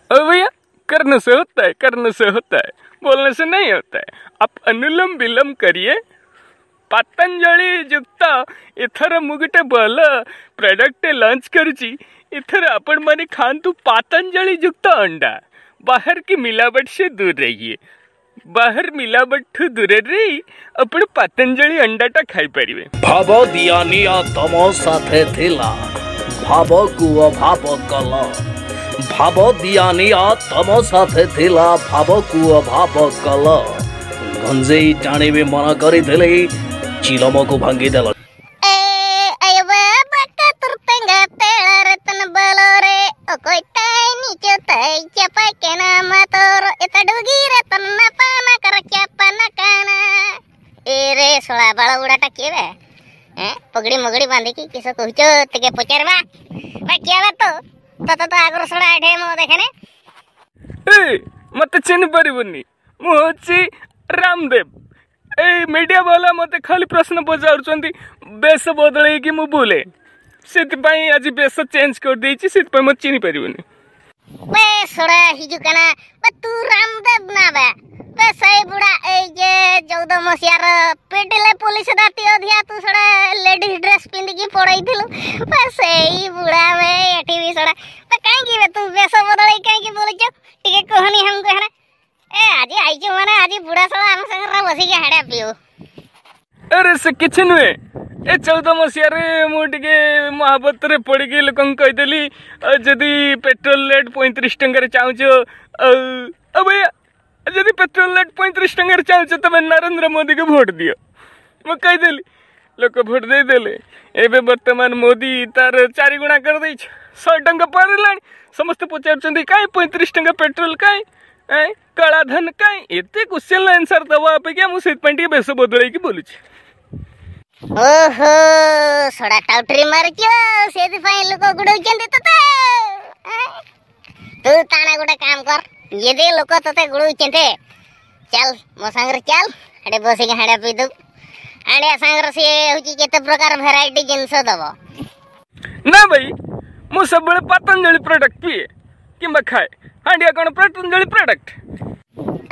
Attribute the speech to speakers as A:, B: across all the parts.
A: ओ भैया, करने से होता है, करने से होता है, बोलने से नहीं होता है। आप अनुलोम विलोम करिए। ପତଞ୍ଜଳି ଯୁକ୍ତ ଏଥର ମୁଁ ଗୋଟେ ଭଲ ପ୍ରଡକ୍ଟ ଲଞ୍ଚ କରୁଛି। ଏଥର ଆପଣମାନେ ଖାଆନ୍ତୁ ପତଞ୍ଜଳି ଯୁକ୍ତ ଅଣ୍ଡା। बाहर की मिलावट से दूर रहिए। बाहर मिलावट ଠୁ ଦୂରରେ ରହି ଆପଣ ପତଞ୍ଜଳି ଅଣ୍ଡାଟା ଖାଇପାରିବେ।
B: ଭାବ ଦିଆ ନିଆ ତମ ସାଥେ ଥିଲା, ଭାବକୁ ଅଭାବ କଲ। ଭାବ ଦିଆ ନିଆ ତମ ସାଥେ ଥିଲା, ଭାବକୁ ଅଭାବ କଲ। ଗଞ୍ଜେଇ ଟାଣିବି ମନା କରିଥିଲି, ଚିଲମକୁ ଭାଙ୍ଗିଦେଲ।
C: ଏ ଶଳା ବାଳ ଗୁଡାଟା କିଏ ବେ? ପଗଡି ମଗଡି ବାନ୍ଧିକି କିସ କହୁଛ, ଟିକେ ପଚାରବା। ବା କିଏ ବା ତୁ? ତତେ ତ ଆଗରୁ ଶଳା ଏଠି ମୁଁ ଦେଖେନି।
A: ଏ ମତେ ଚିହ୍ନି ପାରିବୁନି, ମୁଁ ହଉଛି ରାମଦେବ। ଏଇ ମିଡ଼ିଆ ବାଲା ମତେ ଖାଲି ପ୍ରଶ୍ନ ପଚାରୁଛନ୍ତି ବେଶ ବଦଳେଇକି ମୁଁ ବୁଲେ, ସେଥିପାଇଁ ଆଜି ବେଶ ଚେଞ୍ଜ କରିଦେଇଛି, ସେଥିପାଇଁ ମତେ ଚିହ୍ନି ପାରିବୁନି।
C: ବେ ଶଳା ହିଜୁ କାନା, ବେ ତୁ ରାମଦେବ ନା ବେ? ବେ ସେଇ ବୁଢା ଏଇ ଯେ 14 ମସିହାର ପିଟିଲେ ପୋଲିସ ରାତି ଅଧିଆ, ତୁ ଶଳା ଲେଡିଜ ଡ୍ରେସ ପିନ୍ଧିକି ପଳେଇଥିଲୁ, ବେ ସେଇ ବୁଢା ବେ ଏଠି ବି ଶଳା। ବେ କାହିଁକି ବେ ତୁ ବେଶ ବଦଳେଇ କାହିଁକି ବୁଲୁଛୁ, ଟିକେ କହନି ଆମକୁ। ହେରା ଏ ଆଜି ଆଇଛୁ ମାନେ ଆଜି ବୁଢା ଶଳା ଆମ ସାଙ୍ଗରେ ବସିକି ହାଡା ପିଉ।
A: ଆରେ ସେ କିଛି ନୁହେଁ, ଏ 14 ମସିହାରେ ମୁଁ ଟିକେ ମହାବତରେ ପଡ଼ିକି ଲୋକଙ୍କୁ କହିଦେଲି, ଯଦି ପେଟ୍ରୋଲ ରେଟ୍ 35 ଟଙ୍କାରେ ଚାହୁଁଛ, ଆଉ ଭैया ଯଦି ପେଟ୍ରୋଲ ରେଟ୍ 35 ଟଙ୍କାରେ ଚାହୁଁଛ ତମେ ନରେନ୍ଦ୍ର ମୋଦିକୁ ଭୋଟ ଦିଅ। ମୁଁ କହିଦେଲି, ଲୋକ ଭୋଟ ଦେଇଦେଲେ। ଏବେ ବର୍ତ୍ତମାନ ମୋଦି ତାର 4 ଗୁଣା କରିଦେଇଛି, 100 ଟଙ୍କା ପାର ହେଲାଣି। ସମସ୍ତେ ପଚାରୁଛନ୍ତି କାଇଁ 35 ଟଙ୍କା ପେଟ୍ରୋଲ କାଇଁ, କଳା ଧନ କାଇଁ? ଏତେ କ୍ୱେଶ୍ଚନ ଆନ୍ସର ଦେବା ଅପେକ୍ଷା ମୁଁ ସେଥିପାଇଁ ଟିକେ ବେଶ ବଦଳେଇକି ବୁଲୁଛି।
C: ଓହୋ, ସଡ଼ା ଟାଉଟରି ମାରୁଛ, ସେଥିପାଇଁ ଲୋକ ଗୁଡଉଛନ୍ତି ତତେ। ତୁ ତାଣା ଗୋଟେ କାମ କର, ଯଦି ଲୋକ ତତେ ଗୁଡଉଛନ୍ତି ଚାଲ ମୋ ସାଙ୍ଗରେ ଚାଲ, ହେଠି ବସିକି ହାଣ୍ଡିଆ ପିଇଦବୁ। ହାଣ୍ଡିଆ ସାଙ୍ଗରେ ସିଏ ହଉଛି କେତେ ପ୍ରକାର ଭେରାଇଟି ଜିନିଷ ଦବ।
A: ନା ଭାଇ, ମୁଁ ସବୁବେଳେ ପତଞ୍ଜଳି ପ୍ରଡକ୍ଟ ପିଏ କିମ୍ବା ଖାଏ। ହାଣ୍ଡିଆ କଣ ପତଞ୍ଜଳି ପ୍ରଡକ୍ଟ?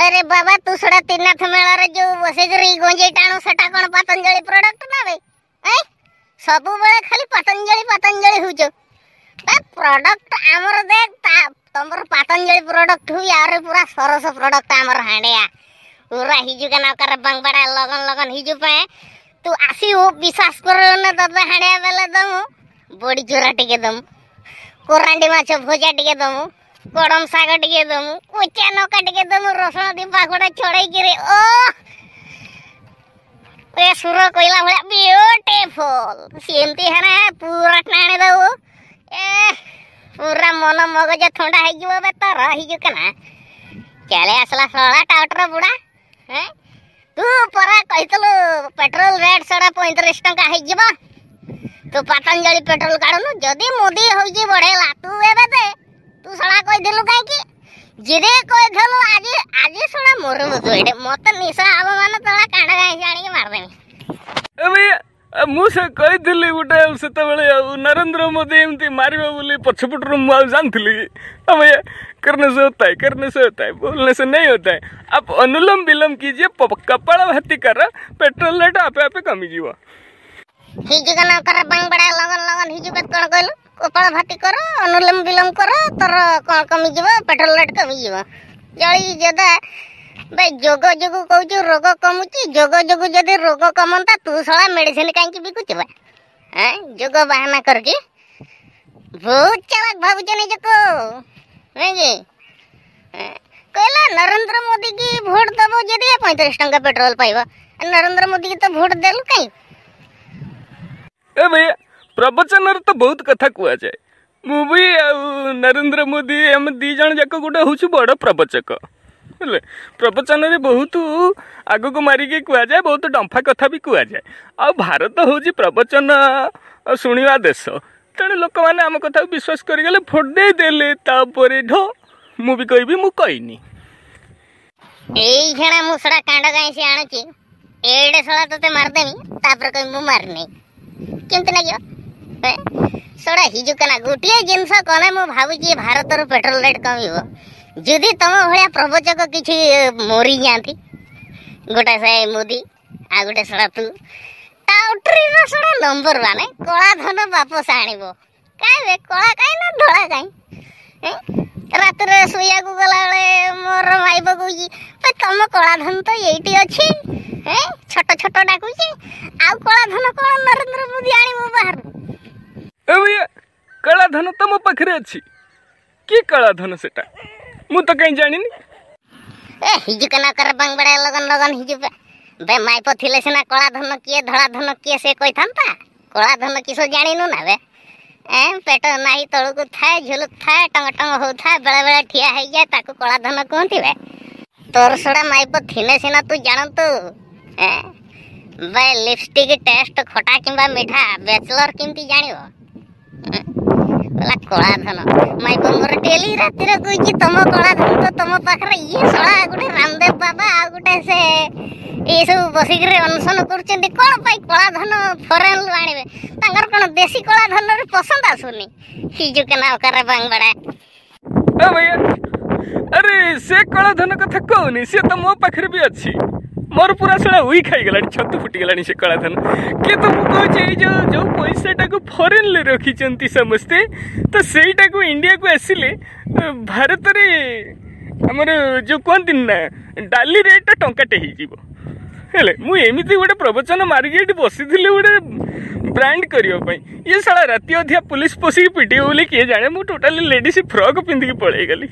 C: ଆରେ ବାବା, ତୁ ଶଳା ତ୍ରିନାଥ ମେଳାରେ ଯୋଉ ବସିକରି ଗଞ୍ଜେଇ ଟାଣୁ ସେଟା କଣ ପତଞ୍ଜଳି ପ୍ରଡକ୍ଟ ନା ଭାଇ? ସବୁବେଳେ ଖାଲି ପତଞ୍ଜଳି ପତଞ୍ଜଳି ହଉଛ। ପ୍ରଡକ୍ଟ ଆମର ଦେଖ, ତମର ପତଞ୍ଜଳି ପ୍ରଡକ୍ଟ ହୁଏ, ଆରେ ପୁରା ସରସ ପ୍ରଡକ୍ଟ ଆମର ହାଣ୍ଡିଆ। ପୁରା ହିଜୁ କେନା କର ବାଙ୍ଗବାଡା ଲଗନ ଲଗନ ହିଜୁ ପାଇଁ ତୁ ଆସିବୁ, ବିଶ୍ୱାସ କର ନା, ତତେ ହାଣ୍ଡିଆ ବେଲେ ଦମୁ, ବଡି ଚୁରା ଟିକେ ଦମୁ, କୋରାଣ୍ଡି ମାଛ ଭଜା ଟିକେ ଦମୁ, କଡମ ଶାଗ ଟିକେ ଦମୁ, କଚା ନକା ଟିକେ ଦମୁ, ରସୁଣ ଦି ପାଖୁଡା ଛଡେଇକିରି, ଓ ଏ ସୁର କହିଲା ଭଳିଆ ବିୟୁଟିଫୁଲ ସେମିତି ହେନା ପୁରା ଟାଣି ଦବୁ। ଏ ପୁରା ମନ ମଗଜ ଥଣ୍ଡା ହେଇଯିବ ବେ ତୋର। ହେଇଯିବ କେନା ଚାଲି ଆସିଲା ଶଳା ଟାଉଟର ବୁଢା। ତୁ ପରା କହିଥିଲୁ ପେଟ୍ରୋଲ ରେଟ୍ ଶଳା 35 ଟଙ୍କା ହେଇଯିବ, ତୁ ପତଞ୍ଜଳି ପେଟ୍ରୋଲ କାଢୁନୁ। ଯଦି ମୋଦି ହଉଛି ବଢେଇଲା ତୁ ଏବେ ଦେ, ତୁ ଶଳା କହିଥିଲୁ କାହିଁକି? ଯଦି କହିଥିଲୁ ଆଜି ଆଜି ଶଳା ମରିବୁ ତୁ ଏଠି, ମତେ ନିଶା ହବ ମାନେ ତଳା କାଣ୍ଡ ଗାଇଁସି ଆଣିକି ମାରିଦେମି।
A: ମୁଁ ସେ କହିଥିଲି ଗୋଟେ ଆଉ ସେତେବେଳେ, ଆଉ ନରେନ୍ଦ୍ର ମୋଦି ଏମିତି ମାରିବ ବୋଲି ପଛପଟରୁ ମୁଁ ଆଉ ଜାଣିଥିଲି? भैया करने से होता है, करने से होता है, बोलने से नहीं होता है। आप अनुलोम विलोम कीजिए, कपाल भाती कर, पेट्रोल रेट ଆପେ ଆପେ କମିଯିବ।
C: ହିଜୁ କନ କର ବାଙ୍ଗବାଡା ଲଗନ ଲଗନ ହିଜୁ କଣ କହିଲୁ? କପାଳ ଭାତି କର, ଅନୁଲୋମ ବିଲୋମ କର, ତୋର କଣ କମିଯିବ? ପେଟ୍ରୋଲ ରେଟ୍ କମିଯିବ। ଜଳି ଯଦା ବେ ଯୋଗ ଯୋଗୁ କହୁଛୁ ରୋଗ କମୁଛି, ଯୋଗ ଯୋଗୁ ଯଦି ରୋଗ କମନ୍ତା ତୁ ଶଳା ମେଡିସିନ କାହିଁକି ବିକୁଛୁ ବା? ଯୋଗ ବାହାନା କରିକି ବହୁତ ଚାଲାକ ଭାବୁଛ ନିଜକୁ, ନାଇଁ କି? କହିଲା ନରେନ୍ଦ୍ର ମୋଦି କି ଭୋଟ ଦବ ଯଦି 35 ଟଙ୍କା ପେଟ୍ରୋଲ ପାଇବ, ନରେନ୍ଦ୍ର ମୋଦି କି ତ ଭୋଟ ଦେଲୁ କାଇଁ?
A: ଏ ଭैया, ପ୍ରବଚନରେ ତ ବହୁତ କଥା କୁହାଯାଏ। ମୁଁ ବି ଆଉ ନରେନ୍ଦ୍ର ମୋଦି ଆମେ ଦି ଜଣ ଯାକ ଗୋଟେ ହଉଛୁ ବଡ଼ ପ୍ରବଚକ। ବୁଝିଲେ, ପ୍ରବଚନରେ ବହୁତ ଆଗକୁ ମାରିକି କୁହାଯାଏ, ବହୁତ ଡମ୍ଫା କଥା ବି କୁହାଯାଏ। ଆଉ ଭାରତ ହେଉଛି ପ୍ରବଚନ ଶୁଣିବା ଦେଶ, ତେଣୁ ଲୋକମାନେ ଆମ କଥାକୁ ବିଶ୍ୱାସ କରିଗଲେ, ଭୋଟ ଦେଇଦେଲେ। ତାପରେ ଢୋ ମୁଁ ବି କହିବି ମୁଁ କହିନି।
C: ଏଇ ଖେଣା ମୁଁ ଶଳା କାଣ୍ଡ ଗାଇଁସି ଆଣୁଛି, ଏଇଟେ ଶଳା ତତେ ମାରିଦେମି, ତାପରେ କହିବି ମୁଁ ମାରିନି, କେମିତି ଲାଗିବ? ଶଳା ହିଜୁକନା ଗୋଟିଏ ଜିନିଷ କଲେ ମୁଁ ଭାବୁଛି ଭାରତର ପେଟ୍ରୋଲ ରେଟ୍ କମିବ ଯଦି ତମ ଭଳିଆ ପ୍ରବଚକ କିଛି ମରିଯାଆନ୍ତି। ଗୋଟେ ସେ ମୋଦି ଆଉ ଗୋଟେ ଶଳା ତୁ ଟାଉଟରିର ଶଳା ନମ୍ବର 1। କଳା ଧନ ବାପସ ଆଣିବ କାଇଁ ବେ? କଳା କାଇଁ ନା ଧଳା କାଇଁ? ରାତିରେ ଶୋଇବାକୁ ଗଲାବେଳେ ମୋର ମାଇପ କହୁଛି, ତମ କଳା ଧନ ତ ଏଇଠି ଅଛି, ଛୋଟ ଛୋଟ ଡାକୁଛି। ଆଉ କଳା ଧନ କଣ ନରେନ୍ଦ୍ର ମୋଦି ଆଣିବ ବାହାରୁ?
A: ଏ ଭैया, କଳା ଧନ ତ ମୋ ପାଖରେ ଅଛି। କି କଳା ଧନ ସେଟା ମୁଁ ତ କାହିଁ ଜାଣିନି।
C: ଏ ହିଜୁକନା କର ବାଙ୍ଗବଡ଼ା ଲଗନ ଲଗନ ହିଜୁ ବେ। ମାଇପ ଥିଲେ ସିନା କଳା ଧନ କିଏ ଧଳା ଧନ କିଏ ସେ କହିଥାନ୍ତା। କଳା ଧନ କିସ ଜାଣିନୁ ନା ବେ? ଏ ପେଟ ନାହିଁ ତଳକୁ ଥାଏ, ଝୁଲୁଥାଏ, ଟଙ୍ଗ ଟଙ୍ଗ ହଉଥାଏ, ବେଳେ ବେଳେ ଠିଆ ହେଇଯାଏ, ତାକୁ କଳା ଧନ କୁହନ୍ତି ବେ। ତୋର ସଡ଼ା ମାଇପ ଥିଲେ ସିନା ତୁ ଜାଣନ୍ତୁ। ଏ ବେ, ଲିପଷ୍ଟିକ ଟେଷ୍ଟ ଖଟା କିମ୍ବା ମିଠା ବ୍ୟାଚଲର କେମିତି ଜାଣିବ? କହିଲା କଳା ଧନ। ମାଇପ ମୋର ଡେଲି ରାତିରେ କହୁଛି, ତମ କଳା ଧନ ତ ତମ ପାଖରେ। ଇଏ ଶଳା ଗୋଟେ ରାମଦେବ ବାବା ଆଉ ଗୋଟେ ସେ ଏସବୁ ବସିକିରି ଅନଶନ କରୁଛନ୍ତି କଣ ପାଇଁ? କଳା ଧନ ଫରେନରୁ ଆଣିବେ, ତାଙ୍କର କଣ ଦେଶୀ କଳା ଧନରେ ପସନ୍ଦ ଆସୁନି? ହିଜୁକନା ଅକାର ବାଙ୍ଗବାଡ଼ା।
A: ଏ ଭैया, ଆରେ ସେ କଳା ଧନ କଥା କହୁନି, ସେ ତ ମୋ ପାଖରେ ବି ଅଛି। ମୋର ପୁରା ଶଳା ଉଇ ଖାଇଗଲାଣି, ଛତୁ ଫୁଟିଗଲାଣି ସେ କଳା ଧନ। କିନ୍ତୁ ମୁଁ କହୁଛି ଏଇ ଯୋଉ ଯୋଉ ପଇସାଟାକୁ ଫରେନରେ ରଖିଛନ୍ତି ସମସ୍ତେ, ତ ସେଇଟାକୁ ଇଣ୍ଡିଆକୁ ଆସିଲେ ଭାରତରେ ଆମର ଯୋଉ କୁହନ୍ତିନି ନା, ଡାଲି ରେଟ୍ଟା ଟଙ୍କାଟେ ହେଇଯିବ। ହେଲେ ମୁଁ ଏମିତି ଗୋଟେ ପ୍ରବଚନ ମାରିକି ଏଠି ବସିଥିଲି ଗୋଟେ ବ୍ରାଣ୍ଡ କରିବା ପାଇଁ, ଇଏ ଶଳା ରାତି ଅଧିଆ ପୋଲିସ ପଶିକି ପିଟିବ ବୋଲି କିଏ ଜାଣେ, ମୁଁ ଟୋଟାଲି ଲେଡିସ୍ ଫ୍ରକ୍ ପିନ୍ଧିକି ପଳେଇଗଲି।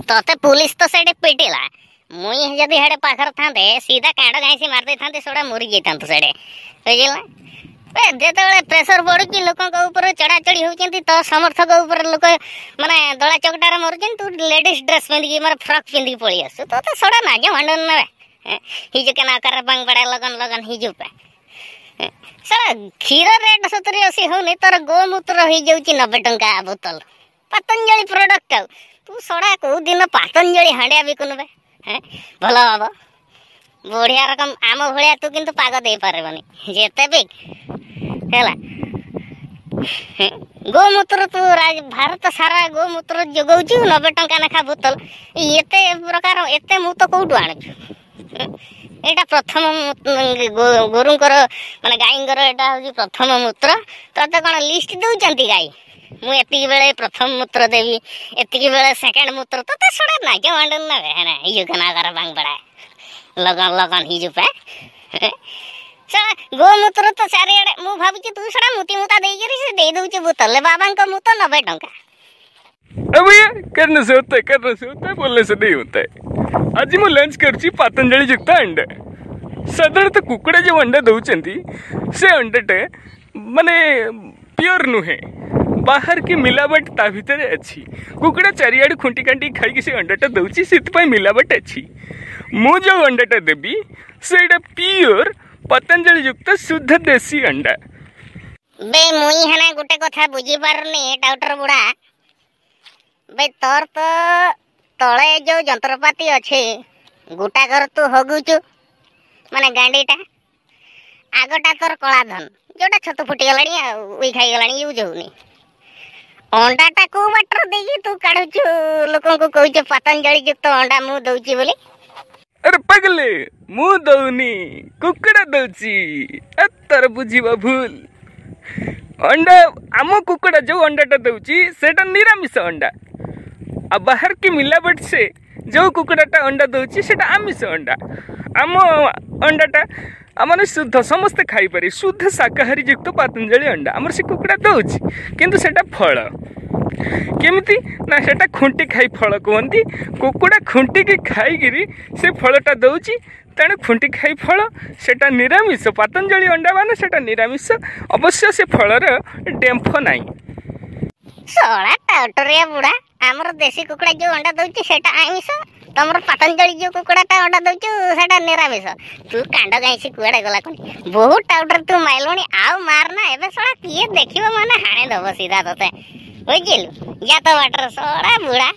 C: ତତେ ପୋଲିସ ତ ସେଠି ପିଟିଲା, ମୁଇଁ ଯଦି ହେଡେ ପାଖରେ ଥାନ୍ତେ ସିଧା କାଣ୍ଡ ଘାଇଁସି ମାରି ଦେଇଥାନ୍ତେ, ସେଗୁଡ଼ା ମରି ଯାଇଥାନ୍ତୁ ସେଡେ, ବୁଝିଲା? ଯେତେବେଳେ ପ୍ରେସର ବଢୁଛି ଲୋକଙ୍କ ଉପରେ, ଚଢାଚଢି ହଉଛନ୍ତି, ତ ସମର୍ଥକ ଉପରେ ଲୋକ ମାନେ ଦଳା ଚକଟାରେ ମରୁଛନ୍ତି, ତୁ ଲେଡିସ୍ ଡ୍ରେସ୍ ପିନ୍ଧିକି ମାନେ ଫ୍ରକ୍ ପିନ୍ଧିକି ପଳେଇ ଆସୁ। ତୋତେ ସଡ଼ା ନାଜ ମାଣ୍ଡ ନେବେ ହିଜୁ କେନା କର ବାଙ୍ଗବଡ଼ା ଲଗନ ଲଗନ ହିଜୁ ପେ। ଶଳା କ୍ଷୀର ରେଟ୍ 70-80 ହଉନି, ତୋର ଗୋମୂତ୍ର ହେଇଯାଉଛି 90 ଟଙ୍କା ବୋତଲ ପତଞ୍ଜଳି ପ୍ରଡକ୍ଟ। ଆଉ ତୁ ଶଳା କୋଉ ଦିନ ପତଞ୍ଜଳି ହାଣ୍ଡିଆ ବିକୁନୁ ବେ? ଭଲ ହବ ବଢିଆ ରକମ। ଆମ ଭଳିଆ ତୁ କିନ୍ତୁ ପାଗ ଦେଇପାରିବନି ଯେତେ ବି ହେଲା। ଗୋମୂତ୍ର ତୁ ଭାରତ ସାରା ଗୋମୂତ୍ର ଯୋଗଉଛୁ 90 ଟଙ୍କା ଲେଖା ବୋତଲ। ଏତେ ପ୍ରକାର ଏତେ ମୁତ କୋଉଠୁ ଆଣୁଛୁ? ଏଇଟା ପ୍ରଥମ ଗୋରୁଙ୍କର ମାନେ ଗାଈଙ୍କର ଏଇଟା ହଉଛି ପ୍ରଥମ ମୂତ୍ର। ତତେ କଣ ଲିଷ୍ଟ ଦଉଛନ୍ତି ଗାଈ, ମୁଁ ଏତିକି ବେଳେ ପ୍ରଥମ ମୂତ୍ର ଦେବି, ଏତିକି ବେଳେ ସେକେଣ୍ଡ ମୂତ୍ର? ତତେ ଶଳା ନାଜ ମାଣ୍ଡୁନ ନା ହିଜୁ କନା ବାଙ୍ଗବଡ଼ା ଲଗନ ଲଗନ ହିଜୁ ପେ। ଶଳା ଗୋମୂତ୍ର ତ ଚାରିଆଡେ। ମୁଁ ଭାବୁଛି ତୁ ଶଳା ମୁତି ମୁତା ଦେଇକିରି ସେ ଦେଇ ଦଉଛୁ ବୋତଲରେ ବାବାଙ୍କ ମୁତ 90 ଟଙ୍କା।
A: अब भैया, करने से होता है, करने से होता है, बोलने से नहीं होता है। ଆଜି ମୁଁ ଲଞ୍ଚ କରୁଛି ପତଞ୍ଜଳି ଯୁକ୍ତ ଅଣ୍ଡା। ସାଧାରଣତଃ କୁକୁଡ଼ା ଯେଉଁ ଅଣ୍ଡା ଦେଉଛନ୍ତି ସେ ଅଣ୍ଡାଟା ମାନେ ପିଓର ନୁହେଁ, ବାହାର କି ମିଲାବଟ ତା ଭିତରେ ଅଛି। କୁକୁଡ଼ା ଚାରିଆଡ଼ୁ ଖୁଣ୍ଟି କାଣ୍ଟି ଖାଇକି ସେ ଅଣ୍ଡାଟା ଦେଉଛି, ସେଥିପାଇଁ ମିଲାବଟ ଅଛି। ମୁଁ ଯେଉଁ ଅଣ୍ଡାଟା ଦେବି ସେଇଟା ପିଓର ପତଞ୍ଜଳି ଯୁକ୍ତ ଶୁଦ୍ଧ ଦେଶୀ ଅଣ୍ଡା।
C: ବେ, ମୁଇଁ ହେନା ଗୋଟେ କଥା ବୁଝିପାରୁନି ଟାଉଟର ବୁଢା। ବେ, ତୋର ତ ତଳେ ଯୋଉ ଯନ୍ତ୍ରପାତି ଅଛି ଗୋଟାକର ତୁ ହଗୁଛୁ ମାନେ ଗାଣ୍ଡିଟା, ଆଗଟା ତୋର କଳା ଧନ ଯୋଉଟା ଛତୁ ଫୁଟିଗଲାଣି ଆଉ ଉଇ ଖାଇଗଲାଣି, ୟୁଜ୍ ହଉନି। ଅଣ୍ଡାଟା କୋଉ ବାଟରେ ଦେଇକି ତୁ କାଢୁଛୁ, ଲୋକଙ୍କୁ କହୁଛୁ ପତଞ୍ଜଳି ଯୁକ୍ତ ଅଣ୍ଡା ମୁଁ ଦଉଛି ବୋଲି?
A: ଆରେ ପାଗଲେ, ମୁଁ ଦଉନି, କୁକୁଡ଼ା ଦଉଛି। ତୋର ବୁଝିବା ଭୁଲ। ଅଣ୍ଡା ଆମ କୁକୁଡ଼ା ଯୋଉ ଅଣ୍ଡାଟା ଦଉଛି ସେଇଟା ନିରାମିଷ ଅଣ୍ଡା, ଆଉ ବାହାର କି ମିଲାବଟ ସେ ଯୋଉ କୁକୁଡ଼ାଟା ଅଣ୍ଡା ଦଉଛି ସେଇଟା ଆମିଷ ଅଣ୍ଡା। ଆମ ଅଣ୍ଡାଟା ମାନେ ଶୁଦ୍ଧ, ସମସ୍ତେ ଖାଇପାରିବେ, ଶୁଦ୍ଧ ଶାକାହାରୀ ଯୁକ୍ତ ପତଞ୍ଜଳି ଅଣ୍ଡା ଆମର ସେ କୁକୁଡ଼ା ଦଉଛି। କିନ୍ତୁ ସେଇଟା ଫଳ କେମିତି ନା ସେଇଟା ଖୁଣ୍ଟି ଖାଇ ଫଳ କୁହନ୍ତି। କୁକୁଡ଼ା ଖୁଣ୍ଟିକି ଖାଇକିରି ସେ ଫଳଟା ଦଉଛି, ତେଣୁ ଖୁଣ୍ଟି ଖାଇ ଫଳ ସେଇଟା ନିରାମିଷ। ପତଞ୍ଜଳି ଅଣ୍ଡା ମାନେ ସେଇଟା ନିରାମିଷ। ଅବଶ୍ୟ ସେ ଫଳର ଡେମ୍ଫ ନାହିଁ।
C: ଶଳା ଟାଉଟରିଆ ବୁଢା, ଆମର ଦେଶୀ କୁକୁଡ଼ା ଯୋଉ ଅଣ୍ଡା ଦଉଛି ସେଇଟା ଆମିଷ, ତମର ପତଞ୍ଜଳି ଯୋଉ କୁକୁଡ଼ାଟା ଅଣ୍ଡା ଦଉଛୁ ସେଇଟା ନିରାମିଷ। ତୁ କାଣ୍ଡ ଗାଇସି କୁଆଡ଼େ ଗଲା କଣ? ବହୁତ ଟାଉଟର ତୁ ମାଇଲୁଣି, ଆଉ ମାର ନା ଏବେ, ଶଳା କିଏ ଦେଖିବ ମାନେ ହାଣି ଦବ ସିଧା ତତେ, ବୁଝିଲୁ? ଯା ତ ବାଟରେ ଶଳା ବୁଢା।